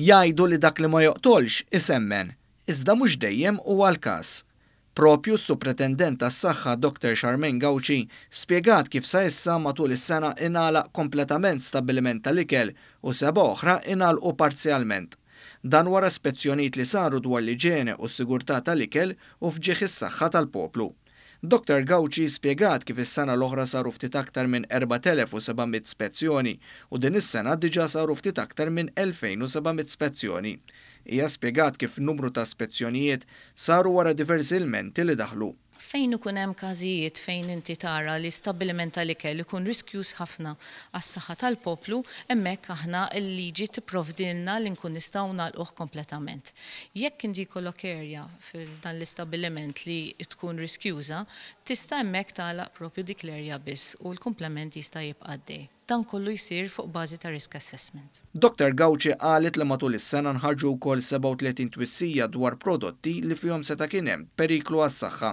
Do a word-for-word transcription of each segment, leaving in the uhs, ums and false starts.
Jgħidu li dak li ma joqtolx isemmen, iżda mhux dejjem huwa l-każ. Propju s-Supretendent tas-Saħħa Doctor Charmaine Gauci spjegat kif sa issa matul is-sena ingħalaq kompletament stabbiliment tal-ikel u seba' oħra ingħalqu parzjalment. Dan wara spezzjonijiet li saru dwar l-iġene u s-sigurtà tal-ikel u f'ġieħ is-saħħa tal-poplu. Doctor Gauci spjegat kif is-sena l-oħra saru ftit aktar minn erbat elef u seba' mitt spezzjoni u din is-sena diġà saru ftit aktar minn elfejn u seba' mitt spezzjoni. Hija spjegat kif numru ta' spezzjonijiet saru wara diversi ilmenti li daħlu. Fejn ikun hemm każijiet fejn inti tara li stabbiliment tal-ikel ikun riskjuż ħafna għas-saħħa tal-poplu, hemmhekk aħna l-liġi tipprovdilna li nkun nistgħu nagħlquh kompletament. Jekk inti jkollok area fil-dan l-istabbiliment li tkun riskjuża, tista' hemmhekk tagħlaq propju dik l-area biss u l-komplement jista' jibqa' għaddej. Dan kollu jsir fuq bażi ta' risk assessment. Doctor Gauci qalet li matul is-sena nħarġu wkoll sebgħa u tletin twissija dwar prodotti li fihom seta' kien hemm periklu għas-saħħa.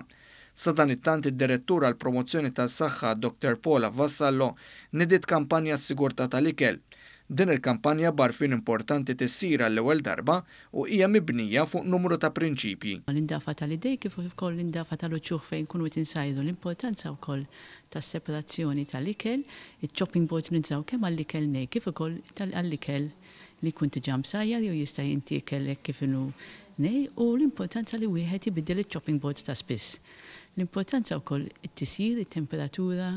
Sadanittant id-direttur għall promozzjoni tas-saħħa Doctor Paula Vassallo nidiet kampanja s-sigurtà tal-ikel. Din il-kampanja b'għarfien importanti tissir għall-ewwel darba u hija mibnija fuq numru ta' prinċipji. L-indafa tal-idej kif ukoll l-indafa tal-uċuħ fejn kunu qed insajru, l-importanza wkoll tas-separazzjoni tal-ikel, iċ-chopping boards ninżaw kemm għall-ikel nej kif ukoll għall-ikel li jkun diġà msajjar jew jista' jintiekel hekk kif inhu nej, u l-importanza li wieħed ibiddel iċ-chopping boards ta' spiss. L-importanza wkoll it-tisjir, it-temperatura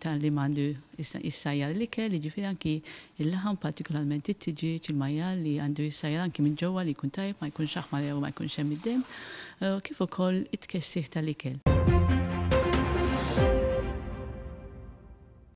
tal-li m'għandu jissajjar l-ikel, jiġifieri anki il-laħam, partikolarment it-tiġieġ, il-majjal li għandu jissajjar anki minn ġewwa li jkun tajjeb, ma jkunx aħmar jew ma jkunx hemm id-demm, kif ukoll it-tkessiħ tal-ikel.